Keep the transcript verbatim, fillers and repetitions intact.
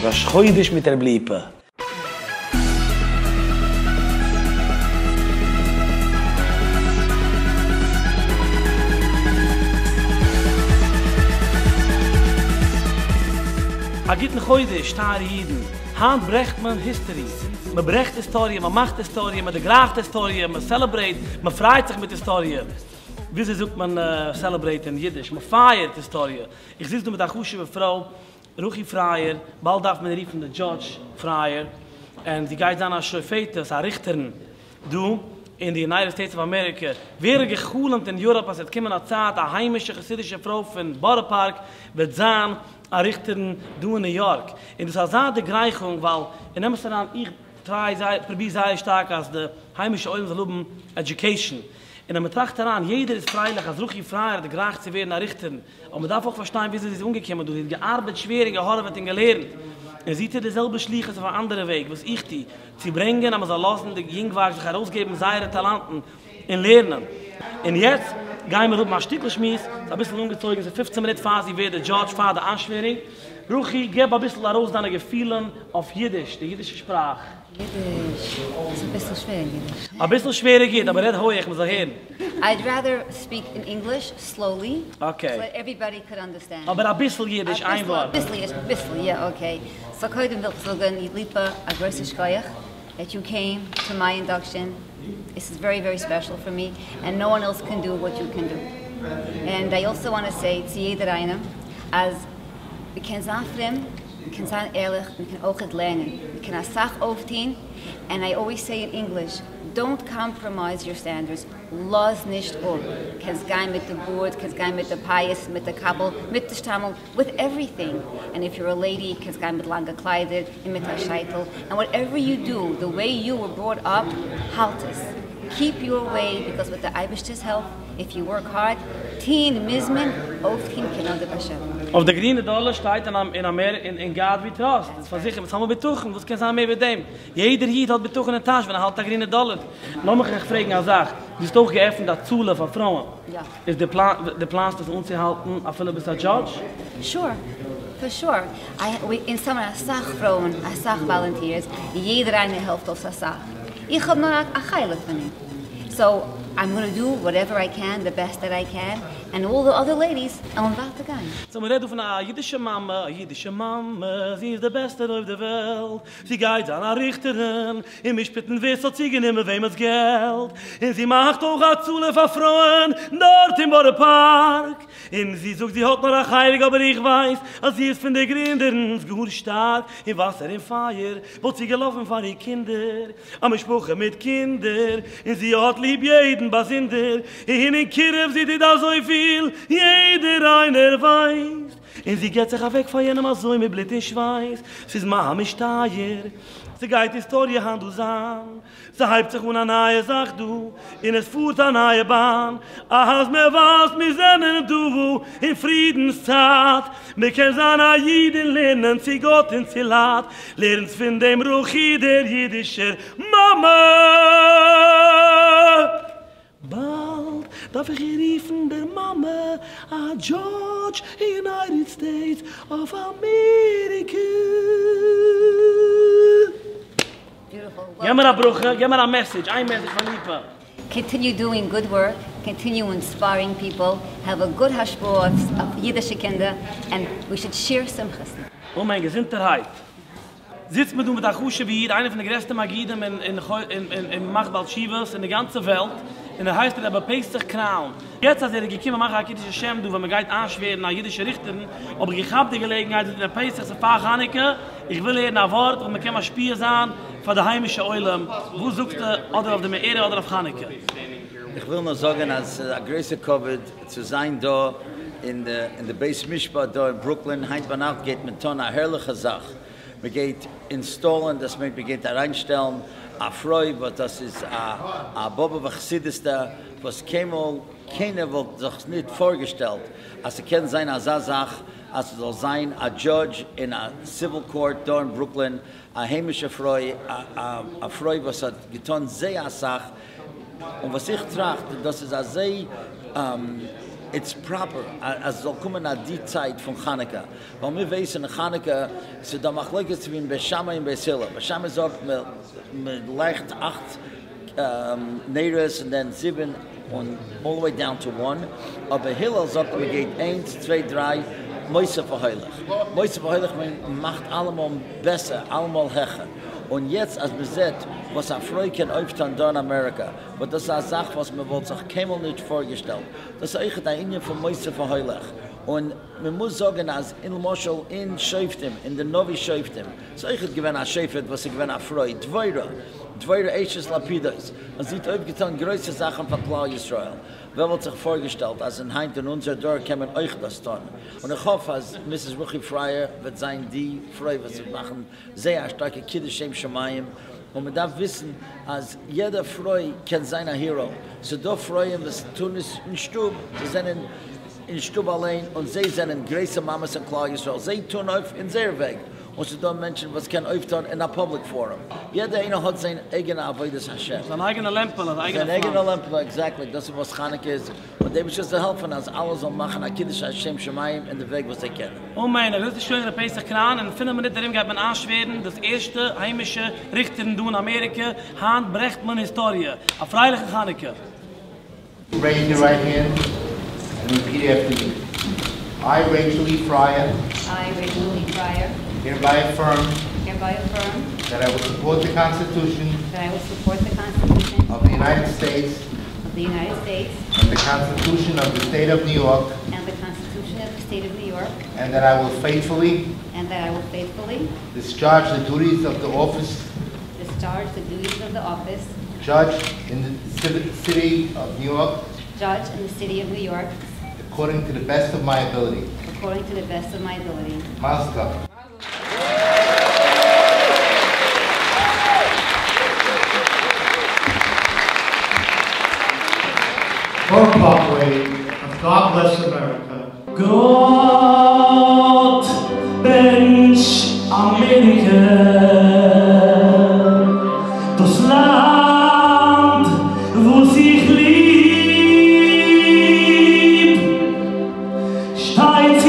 ראש חודש מיט ר' ליפא. א גוטן חודש טייערע אידן, היינט ברעכט מען history, מען ברעכט היסטאריע, מען מאכט היסטאריע, מען דערגרייכט היסטאריע, מען celebrate, מען פרייט זיך מיט היסטאריע. וויאזוי זאגט מען celebrate אין אידיש? מען פייערט היסטאריע. איך זיץ דא מיט א חשוב'ע פרוי, רוחי פרייער, באלד דארף מען רופן די judge פרייער, און זי גייט זיין א שופטת, א ריכטערין, דא אין די United States of America. ווער האט געחלומט אין Europe אז עס וועט קומען א צייט, א היימישע חסידישע פרוי פון בארא פארק וועט זיין א ריכטערין דא אין ניו יארק. און דאס איז אזא דערגרייכונג, ווייל אין אמת אריין, איך try זייער, פרוביר זייער שטארק אז די היימישע עולם זאל האבן education. און אז מען טראכט אריין, יעדער איז פרייליך אז רוחי פרייער האט דערגרייכט צו ווערן א ריכטערין. אבער מען דארף אויך פארשטיין וויאזוי זי איז אנגעקומען דא. זי האט געארבעט שווער און געהארעוועט און געלערנט. און זי טוט די זעלבע שליחות אויף אן אנדערע וועג וואס איך טו, צו ברענגען אז מען זאל לאזן די יונגווארג זיך ארויסגעבן זייערע טאלאנטן און לערנען. און יעצט גייען מיר האבן א שטיקל שמועס, ס'איז אביסל אנגעצויגן, ס'איז פופצן מינוט פאר זי ווערט די judge, פאר די איינשווערונג. רוחי, געב אביסל ארויס דיינע געפילן אויף אידיש, די אידישע שפראך. אידיש איז אביסל שווער אידיש. אביסל שווער גייט, אבער רעד הויך, מען זאל הערן. I'd rather speak in English slowly, Okay. so that everybody could understand. אבער אביסל אידיש, איין ווארט. אביסל אידיש, אביסל, yeah, okay. So קודם וויל איך זאגן, ליפא, א גרויסע שכוח that you came to my induction. This is very, very special for me, and no one else can do what you can do. And I also want to say צו יעדער איינעם, אז מ'קען זיין פרום, מ'קען זיין ערליך, מ'קען אויך לערנען, מ'קען א סאך אויפטון, and I always say in English, don't compromise your standards. לאז נישט אפ. קענסט גיין מיט די בארד, קענסט גיין מיט די פאות, מיט די קאפל, מיט די שטריימל, with everything. And if you're a lady, קענסט גיין מיט לאנגע קליידער, און מיט א שייטל. And whatever you do, the way you were brought up, האלט עס. Keep your way, because with the אייבערשטער's help, if you work hard, טון מוז מען, אויפטון קען נאר דער באשעפער. אויף די גרינע דאלער שטייט אין אין אמער אין in God we trust. דאס פארזיכערט, מיר האבן בטחון, וואס קען זיין מער ווי דעם? יעדער איד האט בטחון אין טאש ווען ער האלט א גרינע דאלער. לאמיך אייך פרעגן א זאך. דו האסט אויך געעפנט א הצלה פאר פרויען. יא. איז די פלאן, די פלאנסט דאס אנצוהאלטן אפילו ביסט א judge? Sure. For sure. I, we, אין סאמער א סאך פרויען, א סאך volunteers, יעדער איינער העלפט אונז א סאך. איך האב נאר א חלק פון אים. So I'm gonna do whatever I can, the best that I can, and all the other ladies, I'm about to גיין. So מ'רעדט דא פון א אידישע מאמע, א אידישע מאמע, זי איז די בעסטע אויף דער וועלט. זי גייט זיין א ריכטערין, און משפטן ווער ס'האט צוגענומען וועמענס געלט. און זי מאכט אויך הצלה פאר פרויען, דארט אין בארא פארק. און זי זאגט, זי האט נאר א חלק, אבער איך ווייס, אז זי איז פון די גרינדערינס גאר שטארק. אין וואסער, אין פייער, וואלט זי געלאפן פאר איר קינדער. א משפחה מיט קינדער, און זי האט ליב יעדן באזונדער. און אין קירוב זי טוט אזוי פיל, יעדער איינער ווייסט. און זי געט זיך אוועק פאר יענעם אזוי מיט בלוט און שווייס. ס'איז ממש טייער. ס'גייט היסטאריע היינט דא זיין. ס'הייבט זיך אן א נייע זאך דא, און עס פארט א נייע באן. אז מיר ווייסט, מיר זענען דא אין פרידנס צייט. מיר קען זיין א איד און לערנען צו גאט און צו לייט. לערנטס פון דעם רוחי דער אידישער מאמע. באלד דארף איך איר רופן דער מאמע, א judge in United States of America. Beautiful. געב מיר א ברכה, געב מיר א message, איין message פון ליפא. Continue doing good work, continue inspiring people, have a good השפעה אויף אידישע קינדער, and we should share שמחות. אמן, געזונטערהייט. זיצט מען דא מיט א חשוב'ע איד, איינער פון די גרעסטע מגידים אין, אין, אין, אין, אין מאכט בעל תשובות אין די גאנצע וועלט, און ער הייסט רבי פסח קראון. יעצט אז ער איז געקומען מאכן א קידוש השם דא, ווען מען גייט איינשווערן א אידישע ריכטערין, האב איך געכאפט די געלעגנהייט, זאגט רבי פסח, ס'איז פאר חנוכה, איך וויל הערן א ווארט וואס מען קען משפיע זיין פאר די היימישע עולם. וואס זאגסטו, אדער אויף די מאורע אדער אויף חנוכה? איך וויל נאר זאגן, אז ס'איז א גרויסע כבוד צו זיין דא אין די, אין די בית משפט דא אין ברוקלין. היינט ביינאכט גייט מען טון א הערליכע זאך. מען גייט install ן, דאס מיינט מען גייט אריינשטעלן א פרוי, וואס דאס איז א, א באבובער חסידות'טע, וואס קיינמאל קיינער וואלט זיך נישט פארגעשטעלט, אז ס'קען זיין אזא זאך, אז ס'זאל זיין א judge אין א civil court דא אין ברוקלין, א היימישע פרוי, א, א, א פרוי וואס האט געטון זייער א סאך. און וואס איך טראכט, דאס איז אזוי, עם, It's proper אז עס זאל קומען אט די צייט פון חנוכה, ווייל מיר ווייסן חנוכה ס'איז דא מחלוקת צווישן בית שמאי און בית הלל, בית שמאי זאגט מען לייכט אכט נרות און דען זיבן און all the way down to one, אבער הלל זאגט מען גייט איינס צוויי דריי מוסיף והולך, מוסיף והולך מיינט מען מאכט אלעמאל בעסער אלעמאל העכער, און יעצט אז מען זעט וואס א פרוי קען אויפטון דא אין אמעריקא, וואס דאס איז א זאך וואס מען וואלט זיך קיינמאל נישט פארגעשטעלט, דאס איז אויכעט א ענין פון מוסיף והולך, און מען מוז זאגן אז אין למשל אין שופטים, אין די נביא שופטים, איז אויכעט געווען א שופט וואס איז געווען א פרוי, דבורה, דבורה אשת לפידות, און זי האט אויפגעטאן גרויסע זאכן פאר כלל ישראל, ווער וואלט זיך פארגעשטעלט אז אין היינט אין אונזער דור קען מען אויך דאס טון, און איך האף אז Mrs. רוחי פרייער וועט זיין די פרוי וואס וועט מאכן זייער א שטארקע קידוש שם שמים, און מען דארף וויסן אז יעדע פרוי קען זיין א hero, ס'דא פרויען וואס טון עס אין שטוב, זיי זענען אין שטוב אליין און זיי זענען גרויסע מאמעס אין כלל ישראל, זיי טון אויף אין זייער וועג, און ס'דא מענטשן וואס קען אויפטון אין א public forum, יעדער איינער האט זיין אייגענע עבודת השם. זיין אייגענע לעמפעלע, זיין אייגענע זיין אייגענע פלאם. לעמפעלע, exactly, דאס איז וואס חנוכה איז, און דער אייבערשטער זאל העלפן אז אלע זאלן מאכן א קידוש השם שמים אין די וועג וואס זיי קענען. אמן, א גרויסע שיינער פסח קראן, אין פינף מינוט ארום גייט מען איינשווערן דאס ערשטע היימישע ריכטערין דא אין אמעריקע, היינט ברעכט מען היסטאריע. א פרייליכע חנוכה. Raise your right hand and repeat after me. I, Rachel E. Fryer, I, Rachel E. Fryer, hereby affirm hereby affirm that I will support the Constitution that I will support the Constitution of the United States of the United States and the Constitution of the State of New York, and the Constitution of the State of New York, and that I will faithfully and that I will faithfully discharge the duties of the office discharge the duties of the office judge in the civi- City of New York judge in the City of New York according to the best of my ability. according to the best of my ability. Mazel tov. Borough Parkway of God Bless America. גאט בענטש אמעריקע, דאס לאנד וואס איך ליב, שטייט